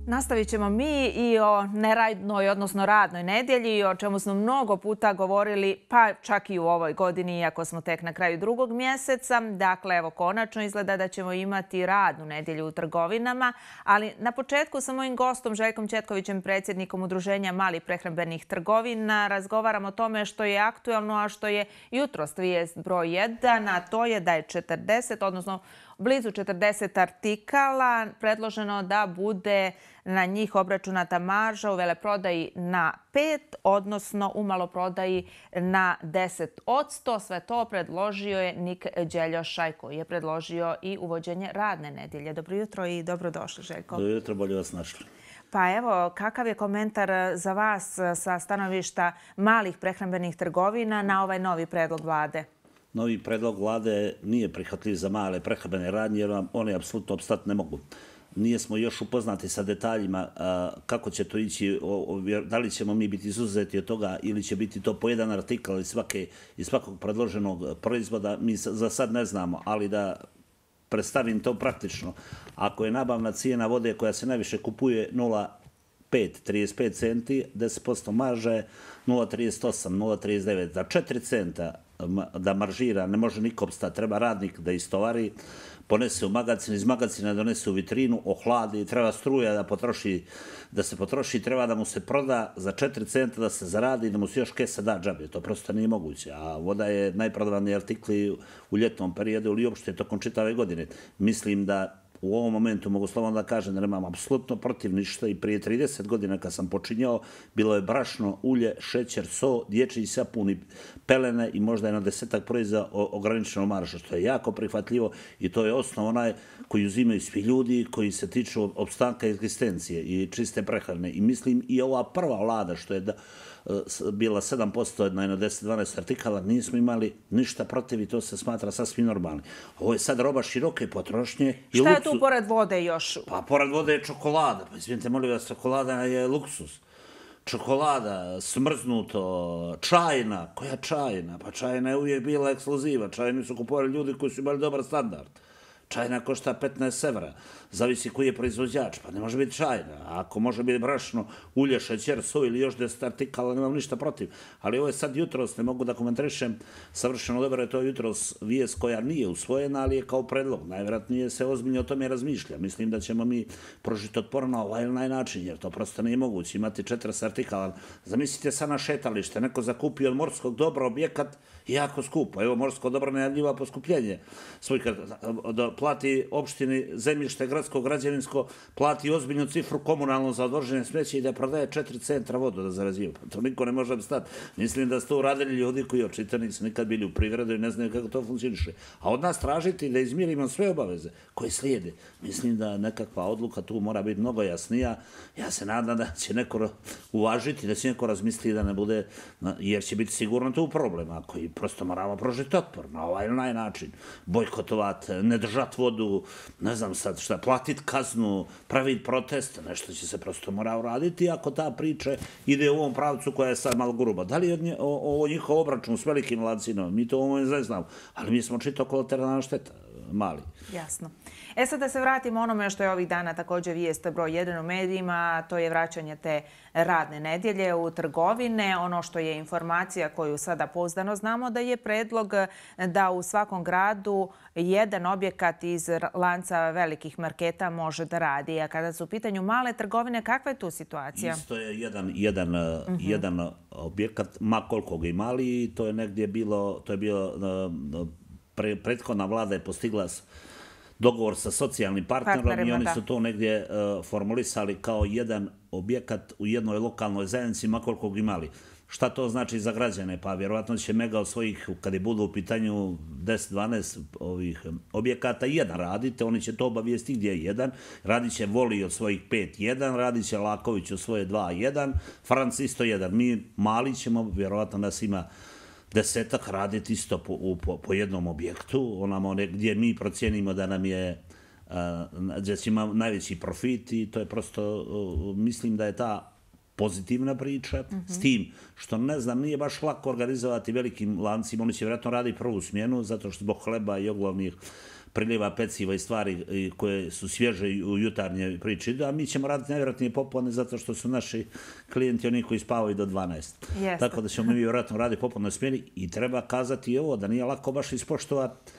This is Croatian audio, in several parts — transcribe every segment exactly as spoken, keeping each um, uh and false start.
Nastavit ćemo mi i o neradnoj, odnosno radnoj nedjelji, o čemu smo mnogo puta govorili, pa čak i u ovoj godini, iako smo tek na kraju drugog mjeseca. Dakle, evo, konačno izgleda da ćemo imati radnu nedjelju u trgovinama, ali na početku sa mojim gostom Željkom Četkovićem, predsjednikom Udruženja malih prehrambenih trgovina, razgovaram o tome što je aktualno, a što je jutros vijest broj jedan, a to je da je četrdeset, odnosno blizu četrdeset artikala predloženo da bude na njih obračunata marža u veleprodaji na pet, odnosno u maloprodaji na deset odsto. Sve to predložio je Nik Đeljošaj, koji je predložio i uvođenje radne nedjelje. Dobro jutro i dobrodošli, Željko. Dobro jutro, bolje vas našli. Pa evo, kakav je komentar za vas sa stanovišta malih prehrambenih trgovina na ovaj novi predlog vlade? Novi predlog vlade nije prihvatljiv za male prehrambene radnje jer one apsolutno opstati ne mogu. Nijesmo još upoznati sa detaljima kako će to ići, da li ćemo mi biti izuzeti od toga ili će biti to po jedan artikal iz svakog predloženog proizvoda. Mi za sad ne znamo, ali da predstavim to praktično. Ako je nabavna cijena vode koja se najviše kupuje nula pet, trideset pet centi, deset posto marže, nula trideset osam, nula trideset devet. Za četiri centa da maržira ne može niko opstati. Treba radnik da istovari, ponese u magacin, iz magacina donese u vitrinu, ohladi, treba struja da potroši, da se potroši, treba da mu se proda za četiri centa da se zaradi i da mu se još kesa da džabe. To prosto nije moguće. A voda je najprodavaniji artikli u ljetnom periodu ili uopšte tokom čitave godine. Mislim da u ovom momentu mogu slobodno da kažem da nemam apsolutno protiv ništa i prije trideset godina kad sam počinjao bilo je brašno, ulje, šećer, so, dječji sapun i pelene i možda jedno desetak proizvoda ograničeno marža, što je jako prihvatljivo i to je osnov onaj koji uzimaju svi ljudi koji se tiču opstanka egzistencije i čiste prehrane. I mislim i ova prva vlada što je da bila sedam posto na jedno deset dvanaest artikala, nismo imali ništa protiv i to se smatra sasvim normalni. Ovo je sad roba široke potrošnje. Šta je tu pored vode još? Pa pored vode je čokolada. Pa izvinite, molim vas, čokolada je luksus. Čokolada, smrznuto, čajna. Koja čajna? Pa čajna je uvijek bila ekskluziva. Čajni su kupovali ljudi koji su imali dobar standard. Čajna košta petnaest evra. Zavisi koji je proizvođač. Pa ne može biti čajna. Ako može biti brašno, ulje, šećer, so ili još deset artikala, nemam ništa protiv. Ali ovo je sad jutros, ne mogu da komentarišem savršeno dobro, je to jutros vijest koja nije usvojena, ali je kao predlog. Najvjerojatnije se ozbiljno o tome razmišlja. Mislim da ćemo mi prožiti otpor na ovaj ili način, jer to prosto nije moguće. Imati četrdeset artikala. Zamislite sad na šetalište, neko zakupio od morskog dobra objekat jako skupo. Evo, morsko dobro najavljiva poskupljenje. Da plati opštini zemljište, gradsko, građevinsko, plati ozbiljnu cifru komunalno za odvoženje smeća i da prodaje četiri centra vodu da zarađiva. To niko ne može obstati. Mislim da su to uradili ljudi koji očito nisu nikad bili u privredu i ne znaju kako to funkcioniše. A od nas tražiti da izmirimo sve obaveze koje slijede. Mislim da nekakva odluka tu mora biti mnogo jasnija. Ja se nadam da će neko uvažiti, da će neko razmisliti da ne bude, jer će biti sigurno tu problem. Ako i prosto moramo prožiti otpor na ovaj ili onaj način. Bojkotovati, ne držati vodu, ne znam sad šta, platiti kaznu, praviti protest, nešto će se prosto mora uraditi ako ta priča ide u ovom pravcu koja je sad malo gruba. Da li je ovo njihov obračun s velikim lancima? Mi to ovo ne znamo, ali mi smo čito kolateralna šteta, mali. Jasno. E sad da se vratimo onome što je ovih dana također vijest broj jedan u medijima, to je vraćanje te radne nedjelje u trgovine. Ono što je informacija koju sada pouzdano znamo da je predlog da u svakom gradu jedan objekat iz lanca velikih marketa može da radi. A kada su u pitanju male trgovine, kakva je tu situacija? Isto je jedan, jedan, uh-huh. jedan objekat, ma koliko ga imali, to je negdje bilo, to je bilo, uh, pre, prethodna vlada je postigla dogovor sa socijalnim partnerom i oni su to negdje uh, formulisali kao jedan objekat u jednoj lokalnoj zajednici, ma koliko ga imali. Šta to znači za građane? Pa vjerovatno će mega od svojih, kada budu u pitanju deset dvanaest ovih objekata, jedan radite, oni će to obavijesti gdje je jedan, radit će Voli od svojih pet jedan, radit će Laković od svoje dva jedan, Franc isto jedan. Mi mali ćemo, vjerovatno nas ima desetak, raditi isto po, po, po jednom objektu, onamo gdje mi procijenimo da nam je gdje će imati najveći profit i to je prosto, mislim da je ta pozitivna priča, mm-hmm. s tim što ne znam, nije baš lako organizovati velikim lancima, oni će vjerojatno raditi prvu smjenu, zato što zbog hleba i oglavnih priliva peciva i stvari koje su svježe u jutarnje priči, a mi ćemo raditi najvjerojatnije popodne zato što su naši klijenti oni koji spavaju do dvanaest. Tako da ćemo mi vjerojatno raditi popodne smjeni i treba kazati i ovo, da nije lako baš ispoštovati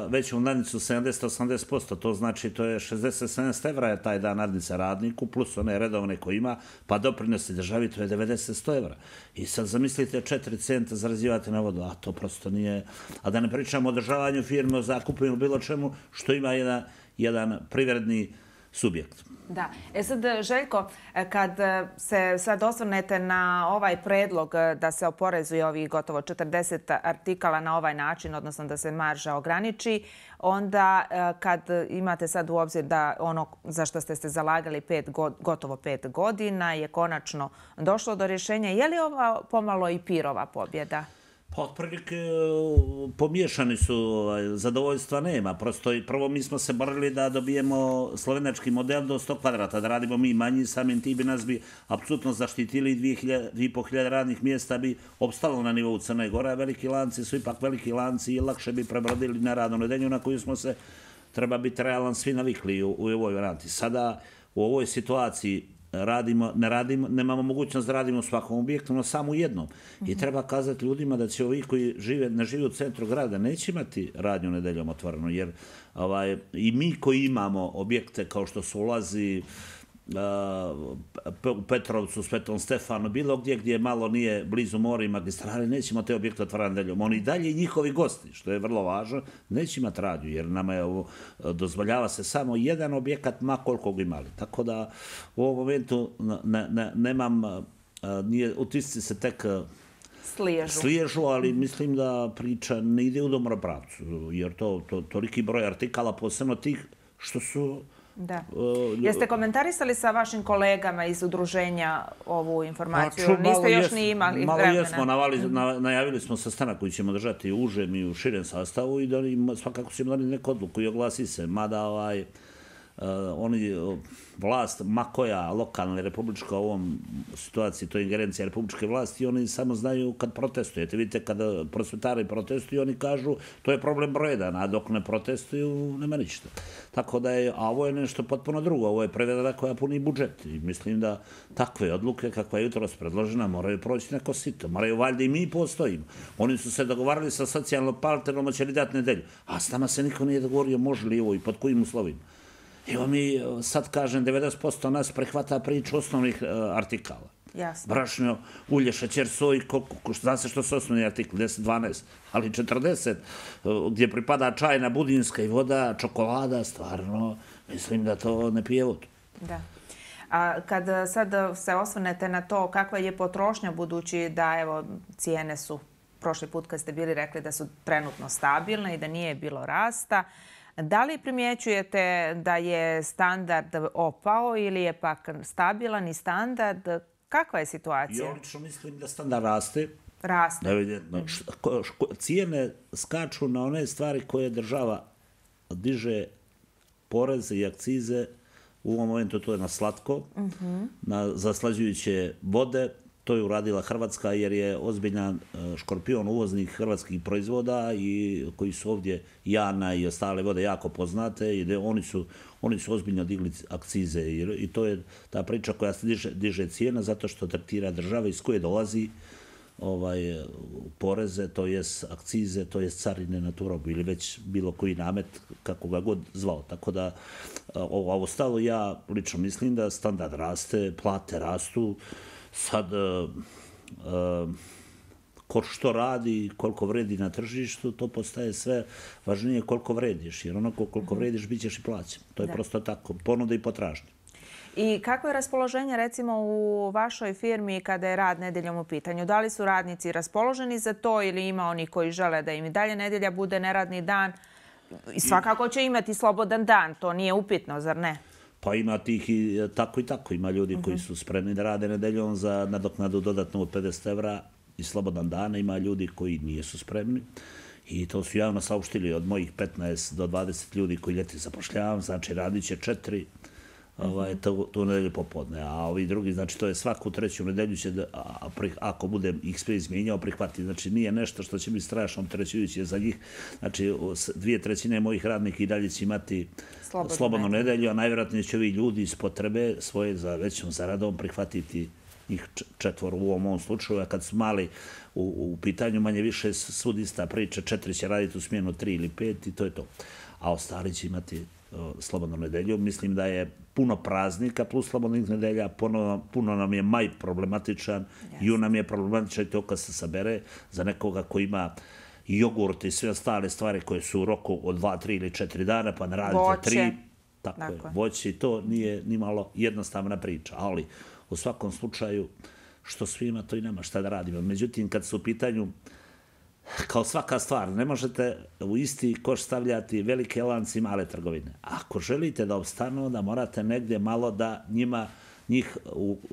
veću nadnicu sedamdeset do osamdeset posto, to znači to je šezdeset do sedamdeset evra je taj dan nadnica radniku, plus one redovne koje ima, pa doprinosi državi, to je devedeset do sto evra. I sad zamislite četiri centa zarađivate na vodu, a to prosto nije... A da ne pričamo o održavanju firme, o zakupu ili bilo čemu, što ima jedan, jedan privredni subjekt. Da. E sad, Željko, kad se sad osvrnete na ovaj predlog da se oporezuje ovih gotovo četrdeset artikala na ovaj način, odnosno da se marža ograniči, onda kad imate sad u obzir da ono za što ste se zalagali pet, gotovo pet godina je konačno došlo do rješenja, je li ova pomalo i pirova pobjeda? Pa otprilike pomiješani su, zadovoljstva nema. Prosto prvo mi smo se borili da dobijemo slovenački model do sto kvadrata, da radimo mi manji, samim tim bi nas bi apsolutno zaštitili, dvije i po hiljade radnih mjesta bi opstalo na nivou Crne Gore, veliki lanci su ipak veliki lanci i lakše bi prebrodili na radnu nedelju na koju smo se, treba biti realan, svi navikli u, u ovoj varijanti. Sada u ovoj situaciji radimo, ne radimo, nemamo mogućnost da radimo u svakom objektu, no samo u jednom. I treba kazati ljudima da će ovi koji žive, ne žive u centru grada neće imati radnju nedeljom otvoreno, jer ovaj, i mi koji imamo objekte kao što su ulazi u Petrovcu, Svetom Stefanu, bilo gdje gdje malo nije blizu mora i magistrale, nećemo te objekte otvarati nedeljom. Oni dalje i njihovi gosti, što je vrlo važno, neće imati radnju, jer nama je ovo, dozvoljava se samo jedan objekat, ma koliko ga imali. Tako da u ovom momentu ne, ne, nemam, nije, utisci se tek Sliježu. Sliježu, ali mislim da priča ne ide u dobro pravcu, jer to, to toliki broj artikala, posebno tih što su... Da. Jeste komentarisali sa vašim kolegama iz udruženja ovu informaciju? Pa, ču, Niste još ni imali malo vremena? Jesmo, navali, na, najavili smo sastanak koji ćemo držati u užem i u širem sastavu i da im, svakako ćemo donijeti neku odluku i oglasi se. Mada ovaj, uh, oni, vlast, ma koja lokalna ili republička u ovom situaciji, to je ingerencija republičke vlasti, oni samo znaju kad protestujete. Vidite, kada prosvetari protestuju, oni kažu to je problem broj jedan, a dok ne protestuju, nema ništa. Tako da je, a ovo je nešto potpuno drugo, ovo je prevedena koja puni budžet. I mislim da takve odluke kakva je jutros predložena moraju proći neko sito. Moraju valjda i mi postojimo. Oni su se dogovarali sa socijalnom partnerom, će li dati nedelju. A s nama se niko nije dogovorio može li ovo i pod kojim uslovima. Evo mi, sad kažem, devedeset posto nas prehvata priču osnovnih uh, artikala. Jasno. Brašnjo, ulje, šećer, soj, zna se što su osnovni artikli, deset dvanaest, ali četrdeset, uh, gdje pripada čajna, budinska i voda, čokolada, stvarno, mislim da to ne pije vodu. Da. A kad sad se osvrnete na to kakva je potrošnja, budući da evo cijene su, prošli put kad ste bili rekli da su trenutno stabilne i da nije bilo rasta, da li primjećujete da je standard opao ili je pak stabilan i standard? Kakva je situacija? Ja lično mislim da standard raste. Raste. Evidentno. Cijene skaču na one stvari koje država diže poreze i akcize. U ovom momentu to je na slatko, uh-huh. na zaslađujuće vode. To je uradila Hrvatska jer je ozbiljan škorpion uvoznih hrvatskih proizvoda i koji su ovdje Jana i ostale vode jako poznate i oni su, oni su ozbiljno digli akcize i to je ta priča koja se diže, diže cijena zato što tretira država iz koje dolazi ovaj, poreze, to jest akcize, to jest carine na tu robu ili već bilo koji namet, kako ga god zvao. Tako da ovo, ovo stalo ja lično mislim da standard raste, plate rastu. Sad, uh, uh, ko što radi, koliko vredi na tržištu, to postaje sve važnije koliko vrediš. Jer onako koliko vrediš, bit ćeš i plaćen. To je da. Prosto tako, ponuda i potražnja. I kako je raspoloženje recimo u vašoj firmi kada je rad nedeljom u pitanju? Da li su radnici raspoloženi za to ili ima oni koji žele da im i dalje nedelja bude neradni dan? I svakako će imati slobodan dan, to nije upitno, zar ne? Pa ima tih i tako i tako. Ima ljudi koji su spremni da rade nedeljom za nadoknadu dodatno od pedeset evra i slobodan dan. Ima ljudi koji nisu spremni. I to su javno saopštili od mojih petnaest do dvadeset ljudi koji ljeti zapošljavam. Znači radit će četiri ovaj, tu, tu nedelju popodne. A ovi drugi, znači to je svaku treću nedelju će, da, a, pri, ako bude ih sve izmijenjao, prihvatiti. Znači nije nešto što će biti strašno opterećujuće za njih. Znači dvije trećine mojih radnika i dalje će imati slobodnu, slobodnu nedelju, a najvjerojatnije će ovi ljudi iz potrebe svoje za većom zaradom prihvatiti njih četvoru u ovom, ovom slučaju, a kad su mali u, u pitanju manje više svud ista priča, četiri će raditi u smjenu tri ili pet i to je to. A ostali će imati o, slobodnu nedelju. Mislim da je puno praznika plus slobodnih nedelja, puno, puno nam je maj problematičan, yes. Jun nam je problematičan i to kad se sabere za nekoga ko ima jogurt i sve ostale stvari koje su u roku od dva, tri ili četiri dana, pa ne radite tri. Tako je, voće i to nije ni malo jednostavna priča, ali u svakom slučaju, što svima, to i nema šta da radimo. Međutim, kad su u pitanju, kao svaka stvar, ne možete u isti koš stavljati velike lance i male trgovine. Ako želite da opstanu, da morate negdje malo da njima njih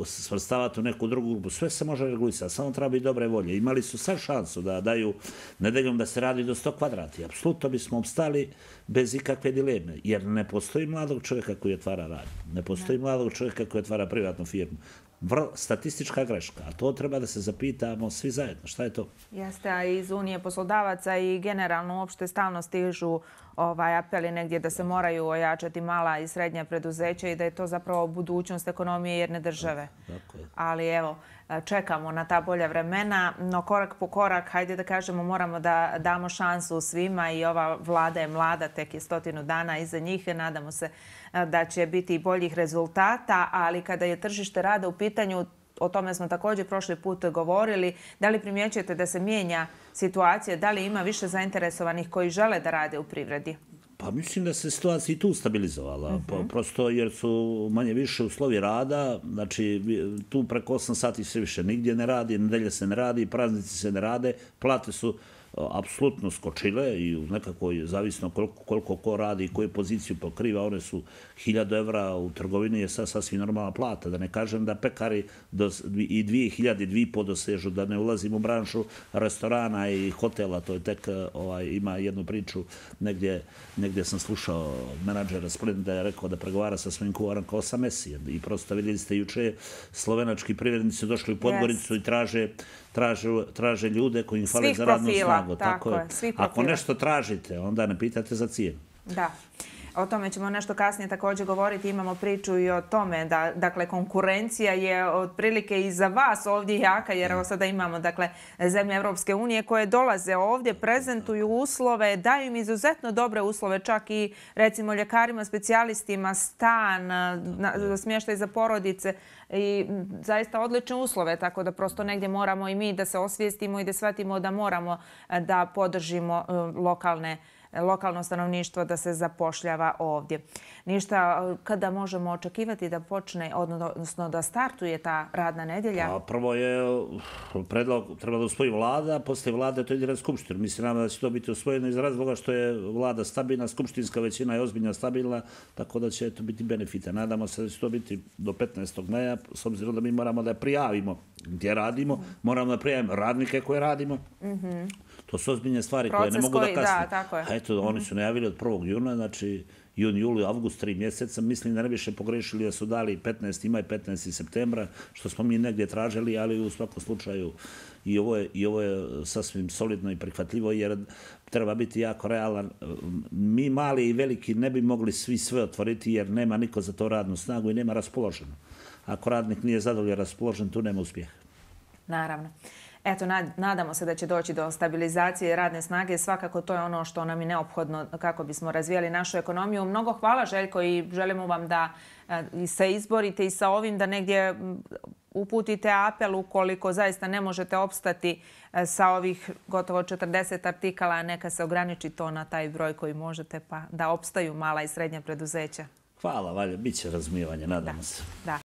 svrstavati u neku drugu grupu. Sve se može regulisati, samo treba biti dobre volje. Imali su sad šansu da daju nedeljom da se radi do sto kvadrati. Apsolutno bismo obstali bez ikakve dileme, jer ne postoji mladog čovjeka koji otvara rad. Ne postoji mladog čovjeka koji otvara privatnu firmu. Vrlo statistička greška, a to treba da se zapitamo svi zajedno. Šta je to? Jeste, a iz Unije poslodavaca i generalno uopšte stalno stižu ovaj, apeli negdje da se moraju ojačati mala i srednja preduzeća i da je to zapravo budućnost ekonomije jedne države. Tako je. Ali evo, čekamo na ta bolja vremena, no korak po korak, hajde da kažemo, moramo da damo šansu svima i ova vlada je mlada, tek je stotinu dana iza njih. Nadamo se da će biti boljih rezultata, ali kada je tržište rada u pitanju, o tome smo također prošli put govorili, da li primjećujete da se mijenja situacija, da li ima više zainteresovanih koji žele da rade u privredi? Pa mislim da se situacija i tu stabilizovala, uh-huh. prosto jer su manje više uslovi rada, znači tu preko osam sati se više nigdje ne radi, nedelje se ne radi, praznici se ne rade, plate su apsolutno skočile i u nekakvoj, zavisno koliko, koliko ko radi i koju poziciju pokriva, one su hiljadu evra u trgovini je sad sasvim normalna plata. Da ne kažem da pekari do, i dvije hiljade, dvije i po dosežu, da ne ulazim u branšu restorana i hotela, to je tek, ovaj, ima jednu priču, negdje, negdje sam slušao menadžera Splenda da je rekao da pregovara sa svojim kuvarom kao sa Mesijem. I prosto vidjeli ste juče, slovenački privrednici došli u Podgoricu yes. i traže Traže, traže ljude koji im fale za radnu snagu. Tako, tako je. Svih profila. Ako nešto tražite, onda ne pitate za cijenu. Da. O tome ćemo nešto kasnije također govoriti. Imamo priču i o tome da, dakle, konkurencija je otprilike i za vas ovdje jaka, jer evo sada imamo, dakle, zemlje Evropske unije koje dolaze ovdje, prezentuju uslove, daju im izuzetno dobre uslove, čak i, recimo, ljekarima, specijalistima, stan, smještaj za porodice i zaista odlične uslove, tako da prosto negdje moramo i mi da se osvijestimo i da shvatimo da moramo da podržimo lokalne lokalno stanovništvo da se zapošljava ovdje. Ništa, kada možemo očekivati da počne, odnosno da startuje ta radna nedjelja? A prvo je predlog, treba da usvoji vlada, poslije vlade to ide na skupštinu. Mislim da će to biti usvojeno iz razloga što je vlada stabilna, skupštinska većina je ozbiljna stabilna, tako da će to biti benefita. Nadamo se da će to biti do petnaestog maja, s obzirom da mi moramo da prijavimo gdje radimo, mm. moramo da prijavimo radnike koje radimo. Mm-hmm. To su ozbiljne stvari Proces koje ne mogu koji, da kasne. Da, tako je. A eto, oni su najavili od prvog juna, znači jun, juli, avgust, tri mjeseca. Mislim da ne više pogrešili da su dali petnaesti maj, petnaesti septembra, što smo mi negdje tražili, ali u svakom slučaju i ovo je, i ovo je sasvim solidno i prihvatljivo, jer treba biti jako realan. Mi mali i veliki ne bi mogli svi sve otvoriti, jer nema niko za to radnu snagu i nema raspoloženo. Ako radnik nije zadovoljan raspoložen, tu nema uspjeha. Naravno. Eto, nadamo se da će doći do stabilizacije radne snage. Svakako to je ono što nam je neophodno kako bismo razvijali našu ekonomiju. Mnogo hvala, Željko, i želimo vam da se izborite i sa ovim, da negdje uputite apel ukoliko zaista ne možete opstati sa ovih gotovo četrdeset artikala. Neka se ograniči to na taj broj koji možete, pa da opstaju mala i srednja preduzeća. Hvala, Valja. Biće razumijevanje, nadamo se. Da.